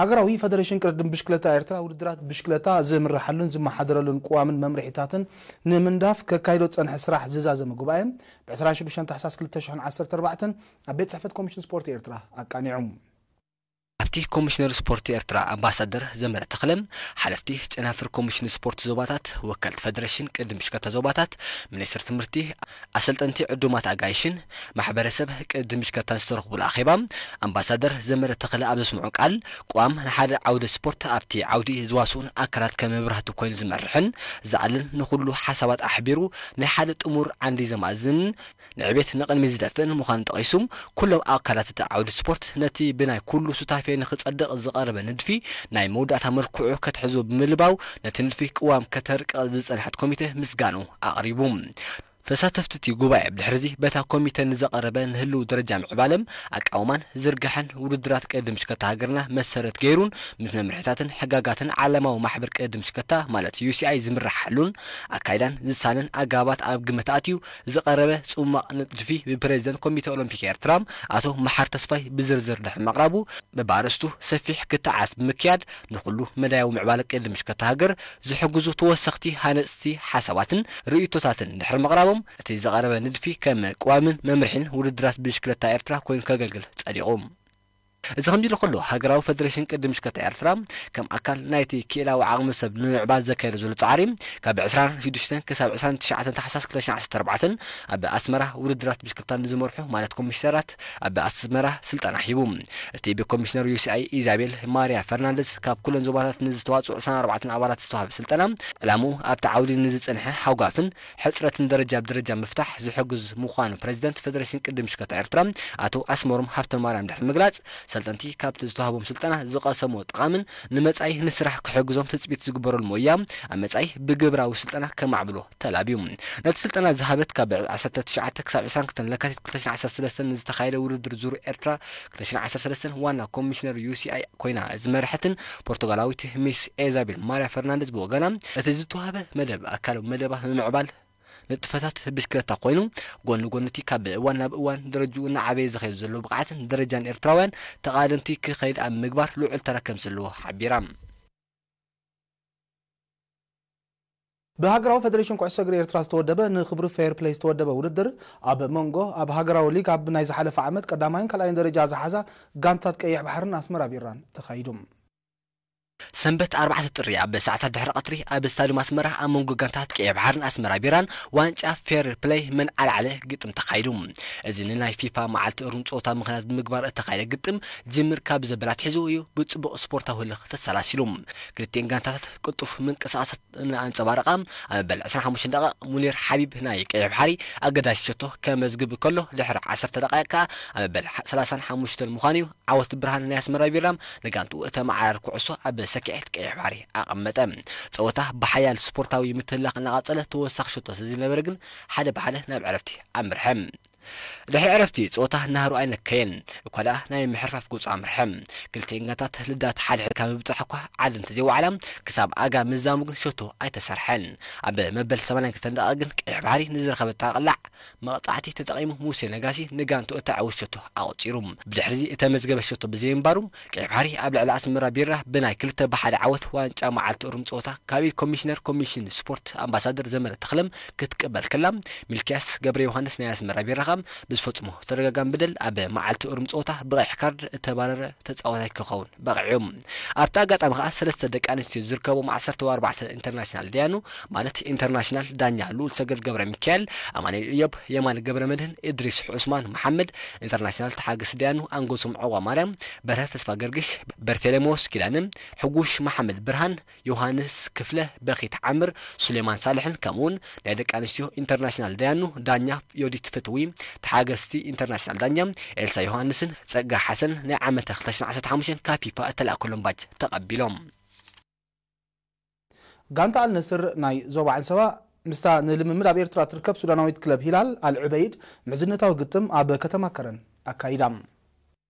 ሃገራዊ ፈደሬሽን ቅድድም ብሽክለታ ኤርትራ ውድድራት ብሽክለታ ዝምርሓሉን ዝመሓደረሉን ቅዋምን መምርሒታትን ንምንዳፍ ከካይዶ ዝጸንሐ ስራሕ ዝዛዘመ ጉባኤ ብ ዕስራን ሽዱሽተን ታሕሳስ ክልተ ሽሕን ዓሰርተ ኣርባዕተን ኣብ ቤት ጽሕፈት ኮሚሽን ስፖርት ኤርትራ ኣቃኒዑ። ኣብቲ ኮሚሽነር ስፖርት ኤርትራ ኣምባሳደር ዘመረ ተኽለ፣ ሓለፍቲ ጨናፍር ኮሚሽን ስፖርት ዞባታት፣ ወከልቲ ፈደሬሽን ቅድድም ብሽክለታ ዞባታት፣ ሚኒስትር ትምህርቲ፣ ኣሰልጠንቲ ዕዱማት ኣጋይሽን ማሕበረሰብ ቅድድም ብሽክለታን ዝተረኽቡሉ ኣኼባ፣ ኣምባሳደር ዘመረ ተኽለ ኣብ ዘስምዖ ቃል፣ ቅዋም ንሓደ ዓውደ ስፖርት ኣብቲ ዓውዲ ዝዋስኡን ኣካላት ከም መብራህቲ ኮይኑ ዝመርሕን ዝኣልን፣ ንኹሉ ሓሳባት ኣሕቢሩ ናይ ሓደ ጥሙር ዓንዲ ዘማእዝንን ንዕቤት ንቕድሚት ዝደፍእን ምዃኑ ጠቒሱ፣ ኩሎም ኣካላት እቲ ዓውዲ ስፖርት ነቲ ብናይ ኩሉ ሱታፌ ንኽጸድቕ ዝቐረበ ንድፊ ናይ መወዳእታ መልክዑ ከትሕዞ ብምልባው፣ ነቲ ንድፊ ቅዋም ከተርቅቕ ዝጸንሐት ኮሚተ ምስጋኑ ኣቕሪቡ። ተሳተፍቲ እቲ ጉባኤ ብድሕርዚ በታ ኮሚተ ንዝቐረበ ንህልው ደረጃ ምዕባለም ኣቃውማን ዝርግሐን ውድድራት ቅድድም ብሽክለታ ሃገርና መሰረት ገይሩን ምስ መምርሒታትን ሕጋጋትን ዓለማዊ ማሕበር ቅድድም ብሽክለታ ማለት ዩ ሲ ኣይ ዝምርሓሉን ኣካይዳን ዝሳነን ኣገባባት ኣብ ግምት ኣትዩ ዝቐረበ ጽማቕ ንድፊ ብፕሬዚደንት ኮሚተ ኦሎምፒክ ኤርትራ ኣቶ መሓር ተስፋይ ብዝርዝር ድሕሪ ምቕራቡ፣ በብኣርእስቱ ሰፊሕ ክትዓት ብምክያድ ንኹሉ መዳያዊ ምዕባለ ቅድድም ብሽክለታ ሃገር ዝሕግዙ ተወሰኽቲ ሃነጽቲ ሓሳባትን ርእይቶታትን ድሕሪ ምቕራቦም፣ እቲ ዝቐረበ ንድፊ ከም ቅዋምን መምርሒን ውድድራት ብሽክለታ ኤርትራ ኮይኑ ከገልግል ጸዲቑ። እዚ ከምዚ ኢሉ ከሎ፣ ሃገራዊ ፈደሬሽን ቅድድም ብሽክለታ ኤርትራ ከም ኣካል ናይቲ ክኢላዊ ዓቕሚ ሰብ ንምዕባል ዘካየዶ ዘሎ ጻዕሪ፣ ካብ ዕስራን ሽዱሽተን ክሳብ ዕስራን ትሽዓተን ታሕሳስ ክልተ ሽሕን ዓሰርተ ኣርባዕተን ኣብ ኣስመራ ውድድራት ብሽክለታ ንዝመርሑ ማለት ኮሚሽነራት ኣብ ኣስመራ ስልጠና ሂቡ። እቲ ብኮሚሽነር ዩ ሲ ኣይ ኢዛቤል ማርያ ፈርናንደዝ ካብ ኩለን ዞባታት ንዝተዋጽኡ ዕስራን ኣርባዕተን ኣባላት ዝተዋህበ ስልጠና፣ ዕላምኡ ኣብቲ ዓውዲ ንዝጸንሐ ሃጓፍን ሕጽረትን ደረጃ ብደረጃ ምፍታሕ ዝሕግዝ ምዃኑ ፕሬዚደንት ፈደሬሽን ቅድድም ብሽክለታ ኤርትራ ኣቶ ኣስመሮም ሃብተማርያም ድሕሪ ምግላጽ፣ ሰልጠንቲ ካብቲ ዝተዋህቦም ስልጠና ዝቐሰምዎ ጠቓምን ንመጻኢ ንስራሕ ክሕግዞም ትጽቢት ዝግበረሉ ሞያ ኣብ መጻኢ ብግብራዊ ስልጠና ከማዕብሎ ተላብዩ። ነቲ ስልጠና ዝሃበት ካብ ዓሰርተ ትሽዓተ ክሳብ ዕስራን ክልተን ለካቲት ክልተ ሽሕን ዓሰርተ ሰለስተን ንዝተኻየደ ውድድር ዙር ኤርትራ ክልተ ሽሕን ዓሰርተ ሰለስተን ዋና ኮሚሽነር ዩ ሲ ኣይ ኮይና ዝመርሐትን ፖርቱጋላዊት ሚስ ኤዛቤል ማርያ ፈርናንደዝ ብወገና፣ እቲ ዝተዋህበ መደብ ኣካል መደባ ንምምዕባል ንጥፈታት ብሽክለታ ኮይኑ፣ ጎኒ ጎኒ እቲ ካብ እዋን ናብ እዋን ደረጅኡ እናዓበየ ዝኸይድ ዘሎ ብቕዓትን ደረጃን ኤርትራውያን ተቓደምቲ ክኸይድ ኣብ ምግባር ልዑል ተራ ከም ዘለዎ ሓቢራ። ብሃገራዊ ፈደሬሽን ኩዕሶ እግሪ ኤርትራ ዝተወደበ ንክብሪ ፌር ፕለይ ዝተወደበ ውድድር፣ ኣብ መንጎ ኣብ ሃገራዊ ሊግ ኣብ ናይ ዝሓለፈ ዓመት ቀዳማይን ካልኣይን ደረጃ ዝሓዛ ጋንታት ቀይሕ ባሕርን ኣስመራ ቢራን ተኻይዱ። ሰንበት ኣርባዕተ ጥሪ ኣብ ሰዓታት ድሕሪ ቀትሪ ኣብ ስታድዩም ኣስመራ ኣብ መንጎ ጋንታት ቀይሕ ባሕርን ኣስመራ ቢራን ዋንጫ ፌር ፕለይ መን ኣልዓለ ግጥም ተኻይዱ። እዚ ንናይ ፊፋ መዓልቲ እሩም ጸወታ ምኽንያት ብምግባር እተኻየደ ግጥም ጅምር ካብ ዘበለ ኣትሒዙ እዩ ብጽቡቕ ስፖርታዊ ህልኽ ተሰላሲሉ። ክልቲኤን ጋንታታት ቅልጡፍ ምንቅስቓሳት እናኣንጸባረቓ፣ ኣብ መበል ዕስራን ሓሙሽተን ደቂቕ ሙኒር ሓቢብ ናይ ቀይሕ ባሕሪ ኣገዳሲ ሸቶ ከመዝግብ ከሎ፣ ድሕሪ ዓሰርተ ደቂቕ ከኣ ኣብ መበል ሰላሳን ሓሙሽተን ምዃኑ እዩ ዓወት ብርሃን ናይ ኣስመራ ቢራ ንጋንትኡ እተመዓራሪ ኩዕሶ ኣብ ሰኪዔት ቀይሕ ባሕሪ ኣቐመጠ። ጸወታ ብሓያል ስፖርታዊ ምትህልላኽ እናቐጸለ፣ ተወሳኺ ሸቶ ስለዝነበረ ግን ሓደ ብሓደ ናብ ዕረፍቲ ኣምርሐ። ድሕሪ ዕረፍቲ ጸወታ ናህሩ ኣይነከየን፣ እኳ ደኣ ናይ ምሕርፋፍ ገጹ ኣምርሐ። ክልቲኤን ጋንታት ልዳት ሓድሕድ ካብ ምብጻሕ እኳ ዓዲ እንተዘይወዓላ፣ ክሳብ ኣጋ ምዛሙ ግን ሸቶ ኣይተሰርሐን። ኣብ መበል ሰማንያን ክልተን ደቂቕ ግን ቀይሕ ባሕሪ ንዝረኸበታ ቅላዕ መቕጻዕቲ ተጠቒሙ ሙሴ ነጋሲ ንጋንቱ እተዓወት ሸቶ ኣቑጺሩ። ብድሕሪዚ እተመዝገበ ሸቶ ብዘይምንባሩ፣ ቀይሕ ባሕሪ ኣብ ልዕሊ ኣስመራ ቢራ ብናይ ክልተ ብሓደ ዓወት ዋንጫ መዓልቲ እሩም ጸወታ ካብ ኢድ ኮሚሽነር ኮሚሽን ስፖርት ኣምባሳደር ዘመረ ተኽለም ክትቅበል ከላ፣ ሚልክያስ ገብረ ዮሃንስ ናይ ኣስመራ ቢራ ከኣ ብዝፈጽሞ ተደጋጋሚ በደል ኣብ መዓልቲ እሩም ጸወታ ብቐይሕ ካርድ እተባረረ ተጻዋታይ ክኸውን በቒዑ። ኣብቲ ኣጋጣሚ ከኣ ሰለስተ ደቂ ኣንስትዮ ዝርከቦም ዓሰርተ ኣርባዕተ ኢንተርናሽናል ዳያኑ፣ ማለት ኢንተርናሽናል ዳኛ ልኡል ሰገድ ገብረ ሚካኤል፣ ኣማኑኤል እዮብ፣ የማነ ገብረ መድህን፣ እድሪስ ዑስማን መሓመድ፣ ኢንተርናሽናል ተሓገስቲ ዳያኑ ኣንጎሶም ዐዋ ማርያም፣ በርሀ ተስፋ ገርግሽ፣ በርቴሌሞስ ኪዳነ፣ ሕጉሽ መሓመድ ብርሃን፣ ዮሃንስ ክፍለ፣ በኺት ዓምር፣ ሱሌማን ሳልሕን፣ ከምኡውን ናይ ደቂ ኣንስትዮ ኢንተርናሽናል ዳያኑ ዳኛ ዮዲት ፍትዊ፣ ተሓገስቲ ኢንተርናሽናል ዳኛ ኤልሳ ዮሃንስን ጸጋ ሓሰን ናይ ዓመተ ክልተ ሽሕን ዓሰርተ ሓሙሽተን ካብ ፊፋ እተላእከሎም ባጅ ተቐቢሎም። ጋንታ ኣልነስር ናይ ዞባ ዓንሰባ ምስታ ንልምምድ ኣብ ኤርትራ ትርከብ ሱዳናዊት ክለብ ሂላል ኣልዑበይድ ምሕዝነታዊ ግጥም ኣብ ከተማ ከረን ኣካይዳ።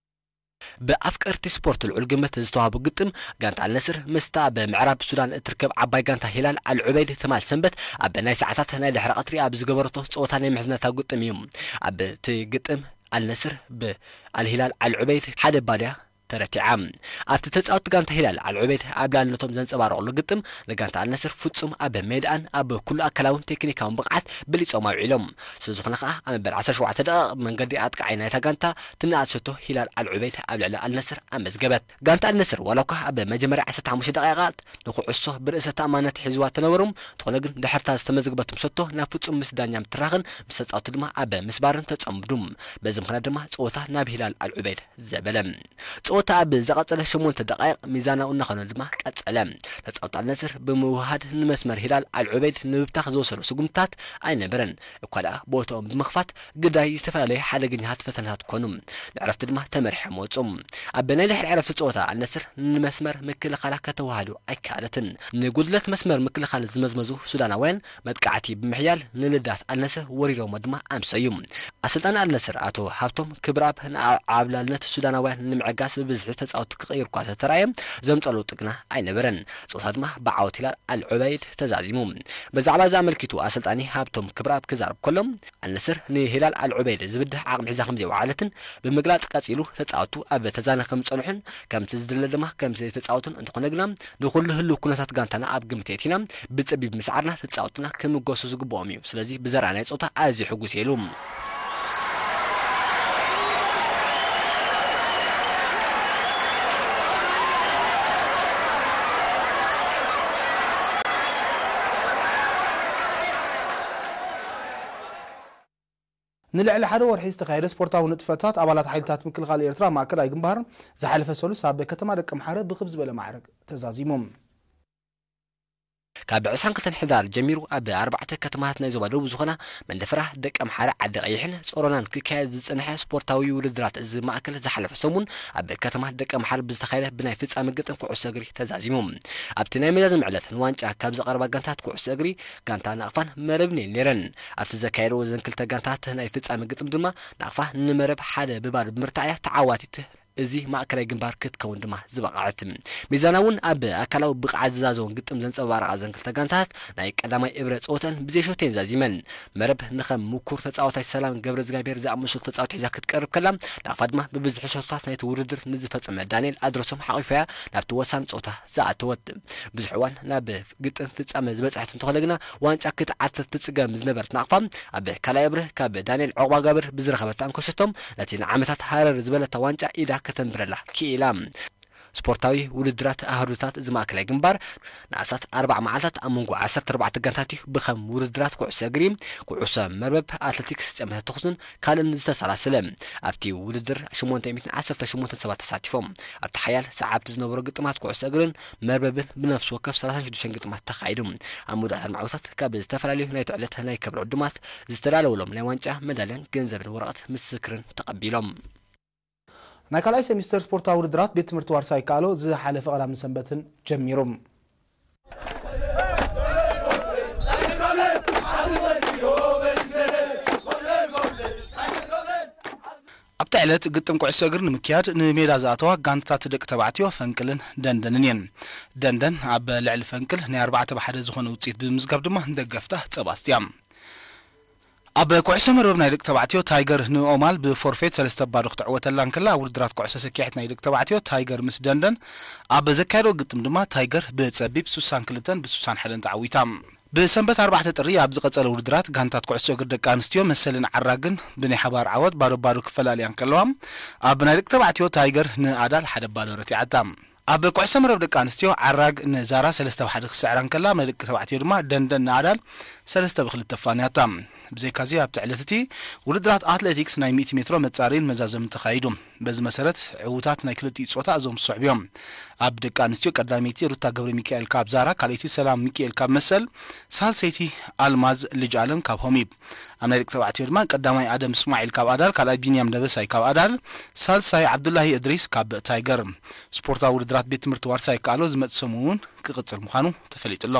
ብኣፍቀርቲ ስፖርት ልዑል ግምት ዝተዋህቦ ግጥም፣ ጋንታ ኣልነስር ምስታ ኣብ ምዕራብ ሱዳን እትርከብ ዓባይ ጋንታ ሂላል ኣልዑበይድ ትማል ሰንበት ኣብ ናይ ሰዓታት ናይ ድሕሪ ቀትሪ ኣብ ዝገበረቶ ጸወታ ናይ ምሕዝነታዊ ግጥም እዩ። ኣብቲ ግጥም ኣልነስር ብኣልሂላል ኣልዑበይድ ሓደ ባዶ እያ ተረቲዓ። ኣብቲ ተጻወቲ ጋንታ ሂላል ኣልዑበይድ ኣብ ልዕልነቶም ዘንጸባረቑሉ ግጥም፣ ንጋንታ ኣልነስር ፍጹም ኣብ ሜዳኣን ኣብ ኩሉ ኣካላውን ቴክኒካውን ብቕዓት በሊጾም ኣውዒሎም። ስለዝኾነ ከኣ ኣብ መበል ዓሰርተ ሸውዓተ ደቂቕ መንገዲ ኣጥቃዓይ ናይታ ጋንታ ትንኣት ሸቶ ሂላል ኣልዑበይድ ኣብ ልዕሊ ኣልነስር ኣመዝገበት። ጋንታ ኣልነስር ዋላ እኳ ኣብ መጀመርያ ዓሰርተ ሓሙሽተ ደቂቓት ንኩዕሶ ብርእሰ ተኣማንነት ሒዝዋ ተነበሩ። እንተኾነ ግን ድሕርታ ዝተመዝገበቶም ሸቶ ናብ ፍጹም ምስ ዳኛ ምትራኽን ምስ ተጻወቱ ድማ ኣብ ምስባርን ተጸምዱ። በዚ ምኽንያት ድማ ጸወታ ናብ ሂላል ኣልዑበይድ ዘበለ። ጸወታ ኣብ ዝቐጸለ ሸሞንተ ደቃይቕ ሚዛናዊ እናኾነ ድማ ቀጸለ። ተጻወቲ ኣልነስር ብምውህሃድ ንመስመር ሂላል ኣልዑበይድ ንምብታኽ ዝወሰዶ ስጉምትታት ኣይነበረን። እኳ ደኣ ቦታኦም ብምኽፋት ግዳይ ዝተፈላለዩ ሓደገኛታት ፈተነታት ኮኑ። ንዕረፍቲ ድማ ተመሪሖም ወጹ። ኣብ ናይ ድሕሪ ዕረፍቲ ጸወታ ኣልነስር ንመስመር ምክልኻላ ከተወሃህዶ ኣይከኣለትን። ንጉድለት መስመር ምክልኻል ዝመዝመዙ ሱዳናውያን መጥቃዕቲ ብምሕያል ንልዳት ኣልነስር ወሪሮሞ ድማ ኣምሰዩ። ኣሰልጣኒ ኣልነስር ኣቶ ሃብቶም ክብረኣብ ንዓብላልነት ሱዳናውያን ንምዕጋስ ብብዝሒ ተጻወትቲ ክቕይር እኳ ተተራእየ፣ ዘምጸሉ ጥግና ኣይነበረን። ጸወታ ድማ ብዓወት ሂላል ኣልዑበይድ ተዛዚሙ። ብዛዕባ እዚ ኣመልኪቱ ኣሰልጣኒ ሃብቶም ክብረኣብ ክዛረብ ከሎ፣ ኣልነስር ንሂላል ኣልዑበይድ ዝብድህ ዓቕሚ ሒዛ ከም ዘይወዓለትን ብምግላጽ ቀጺሉ ተጻወቱ ኣብ ተዛነ ከም ዝጸንሑን ከምቲ ዝድለ ድማ ከም ዘይተጻወቱን እንተኾነ ግና ንኹሉ ህልው ኩነታት ጋንታና ኣብ ግምት የእቲና ብጸቢብ ምስዓርና ተጻወትና ክምጎሱ ዝግብኦም እዩ። ስለዚ ብዘርኣናዮ ጸወታ ኣዝዩ ሕጉስ እየ ኢሉ። ንልዕሊ ሓደ ወርሒ ዝተኻየደ ስፖርታዊ ንጥፈታት ኣባላት ሓይልታት ምክልኻል ኤርትራ ማእከላይ ግንባር ዝሓለፈ ሰሉስ ኣብ ከተማ ደቀምሓረ ብኽብ ዝበለ ማዕረግ ተዛዚሙ። ካብ ዕስራን ክልተን ሕዳር ጀሚሩ ኣብ ኣርባዕተ ከተማታት ናይ ዞባ ደቡብ ዝኾና መንደፈራ፣ ደቀምሓረ፣ ዓዲ ቀይሕን ጾሮናን ክካየድ ዝጸንሐ ስፖርታዊ ውድድራት እዚ ማእከል ዝሓለፈ ሰሙን ኣብ ከተማ ደቀምሓረ ብዝተኻየደ ብናይ ፍጻመ ግጥም ኩዕሶ እግሪ ተዛዚሙ። ኣብቲ ናይ መዛዘሚ ዕለት ንዋንጫ ካብ ዝቐርባ ጋንታት ኩዕሶ እግሪ ጋንታ ናቕፋን መረብን እየን ነይረን። ኣብቲ ዘካየድዎ እዘን ክልተ ጋንታት ናይ ፍጻመ ግጥም ድማ ናቕፋ ንመረብ ሓደ ብባዶ ብምርታዕ እያ ተዓዋቲት እዚ ማእከላይ ግንባር ክትከውን ድማ ዝበቕዐት። ሚዛና እውን ኣብ ኣካላዊ ብቕዓት ዝዛዘውን ግጥም ዘንጸባረቓ እዘን ክልተ ጋንታት ናይ ቀዳማይ እብረ ጸወተን ብዘይ ሸቶ እየን ዛዚመን። መረብ ንኸም ምኩር ተጻዋታይ ሰላም ገብረ እግዚኣብሔር ዝኣመሰሉ ተጻወቲ ሒዛ ክትቀርብ ከላ፣ ናቕፋ ድማ ብብዝሒ ሸቶታት ናይቲ ውድድር ንዝፈጸመ ዳንኤል ኣድረሶም ሓቒፋ እያ ናብቲ ወሳኒ ጸወታ ዝኣተወት። ብዙሕ እዋን ናብ ግጥም ፍጻመ ዝበጽሐት እንተኾነ ግና፣ ዋንጫ ክትዓትር ትጽገም ዝነበረት ናቕፋ፣ ኣብ ካልኣይ እብረ ካብ ዳንኤል ዑቕባጋብር ብዝረኸበታ እንኮ ሸቶ፣ ነቲ ንዓመታት ሃረር ዝበለታ ዋንጫ ኢዳ ከተንብረላ ክኢላ። ስፖርታዊ ውድድራት ኣህዱታት እዚ ማእከላይ ግንባር ንኣስታት ኣርባዓ መዓልታት ኣብ መንጎ ዓሰርተ ኣርባዕተ ጋንታት እዩ ብኸም ውድድራት ኩዕሶ እግሪ፣ ኩዕሶ መርበብ፣ ኣትሌቲክስ፣ ጸመተ ተኹስን ካልእን ዝተሰላሰለ። ኣብቲ ውድድር ሽሞንተ ሚእትን ዓሰርተ ሸሞንተን ሰባት ተሳቲፎም። ኣብቲ ሓያል ሰዓብቲ ዝነበሮ ግጥማት ኩዕሶ እግርን መርበብን ብነፍሲ ወከፍ ሰላሳን ሽዱሽተን ግጥማት ተኻይዱ። ኣብ መወዳእታ ኣርባዕተ ዓወታት ካብ ዝተፈላለዩ ናይቲ ዕለት ናይ ክብሪ ዕዱማት ዝተዳለወሎም ናይ ዋንጫ መዳልያን ገንዘብን ወረቐት ምስክርን ተቐቢሎም። ናይ ካልኣይ ሴሚስተር ስፖርታዊ ውድድራት ቤት ትምህርቲ ዋርሳይ ካሎ ዝሓለፈ ቀዳምን ሰንበትን ጀሚሩ። ኣብቲ ዕለት ግጥም ኩዕሶ እግሪ ንምክያድ ንሜዳ ዝኣተዋ ጋንታታት ደቂ ተባዕትዮ ፈንቅልን ደንደንን እየን። ደንደን ኣብ ልዕሊ ፈንቅል ናይ ኣርባዕተ ብሓደ ዝኾነ ውፅኢት ብምምዝጋብ ድማ ደገፍታ ፀባስት እያ። ኣብ ኩዕሶ መርበብ ናይ ደቂ ተባዕትዮ ታይገር ንኦማል ብፎርፌት ሰለስተ ባዶ ክትዕወተላ እንከላ፣ ኣብ ውድድራት ኩዕሶ ሰኪዔት ናይ ደቂ ተባዕትዮ ታይገር ምስ ደንደን ኣብ ዘካየዶ ግጥም ድማ ታይገር ብፀቢብ ስሳን ክልተን ብስሳን ሓደን ተዓዊታ። ብሰንበት ኣርባዕተ ጥሪ ኣብ ዝቐጸለ ውድድራት ጋንታት ኩዕሶ እግሪ ደቂ ኣንስትዮ መሰልን ዓራግን ብናይ ሓባር ዓወት ባዶ ባዶ ክፈላልያ እንከለዋ፣ ኣብ ናይ ደቂ ተባዕትዮ ታይገር ንኣዳል ሓደ ባዶ ረቲዓታ። ኣብ ኩዕሶ መረብ ደቂ ኣንስትዮ ዓራግ ንዛራ ሰለስተ ብ ሓደ ክስዕራ እንከላ፣ ኣብ ናይ ደቂ ተባዕትዮ ድማ ደንደን ንኣዳል ሰለስተ ብ ክልተ ኣፋንያታ። ብዘይካዚ ኣብቲ ዕለት እቲ ውድድራት ኣትሌቲክስ ናይ ሚእቲ ሜትሮ መጻረይን መዛዘምን ተኻይዱ። በዚ መሰረት ዕዉታት ናይ ክልቲኡ ጾታ እዞም ዝስዕቡ እዮም። ኣብ ደቂ ኣንስትዮ ቀዳመይቲ ሩታ ገብረ ሚካኤል ካብ ዛራ፣ ካልኣይቲ ሰላም ሚካኤል ካብ መሰል፣ ሳልሰይቲ ኣልማዝ ልጅ ኣለም ካብ ሆሚብ። ኣብ ናይ ደቂ ተባዕትዮ ድማ ቀዳማይ ኣደም እስማዒል ካብ ኣዳል፣ ካልኣይ ቢንያም ደበሳይ ካብ ኣዳል፣ ሳልሳይ ዓብዱላሂ እድሪስ ካብ ታይገር። ስፖርታዊ ውድድራት ቤት ትምህርቲ ዋርሳይ ከኣሎ ዝመጽእ ሰሙን እውን ክቕጽል ምዃኑ ተፈሊጡ ኣሎ።